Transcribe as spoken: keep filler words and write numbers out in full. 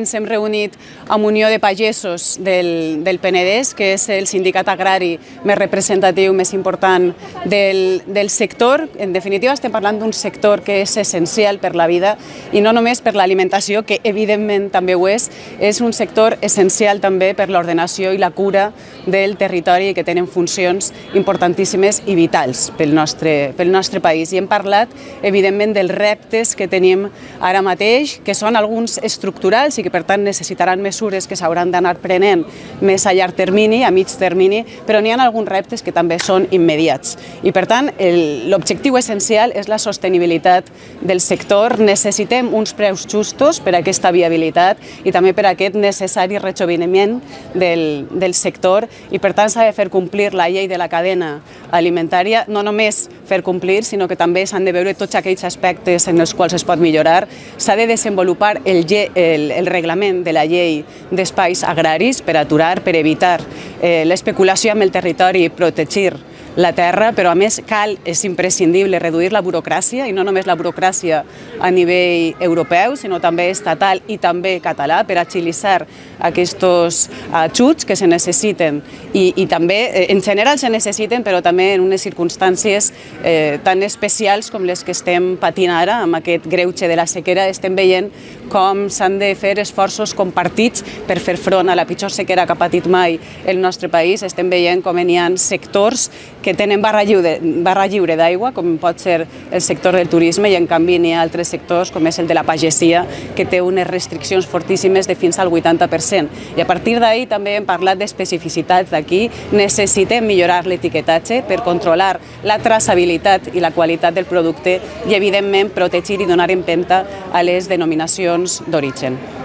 Ens hem reunit amb Unió de Pagesos del, del Penedès, que és el sindicat agrari més representatiu, més important del, del sector. En definitiva, estem parlant d'un sector que és essencial per la vida i no només per l'alimentació, que evidentment també ho és, és un sector essencial també per l'ordenació i la cura del territori i que tenen funcions importantíssimes i vitals pel nostre, pel nostre país. I hem parlat, evidentment, dels reptes que tenim ara mateix, que són alguns estructurals i que per tant necessitaran mesures que s'hauran d'anar prenent més a llarg termini, a mig termini, però n'hi ha alguns reptes que també són immediats. I per tant, l'objectiu essencial és la sostenibilitat del sector. Necessitem uns preus justos per a aquesta viabilitat i també per a aquest necessari rejoveniment del, del sector i per tant s'ha de fer complir la llei de la cadena alimentària, no només fer complir, sinó que també s'han de veure tots aquells aspectes en els quals es pot millorar. S'ha de desenvolupar el, el, el reglament de la llei d'espais agraris per aturar, per evitar eh, l'especulació amb el territori i protegir la terra, però a més cal, és imprescindible reduir la burocràcia, i no només la burocràcia a nivell europeu, sinó també estatal i també català, per agilitzar aquests ajuts que se necessiten i, i també en general se necessiten, però també en unes circumstàncies eh, tan especials com les que estem patint ara, amb aquest greuge de la sequera. Estem veient com s'han de fer esforços compartits per fer front a la pitjor sequera que ha patit mai el nostre país. Estem veient com hi ha sectors que tenen barra lliure, barra lliure d'aigua, com pot ser el sector del turisme, i en canvi n'hi ha altres sectors, com és el de la pagesia, que té unes restriccions fortíssimes de fins al vuitanta per cent. I a partir d'ahir també hem parlat d'especificitats d'aquí. Necessitem millorar l'etiquetatge per controlar la traçabilitat i la qualitat del producte i, evidentment, protegir i donar empenta a les denominacions d'origen.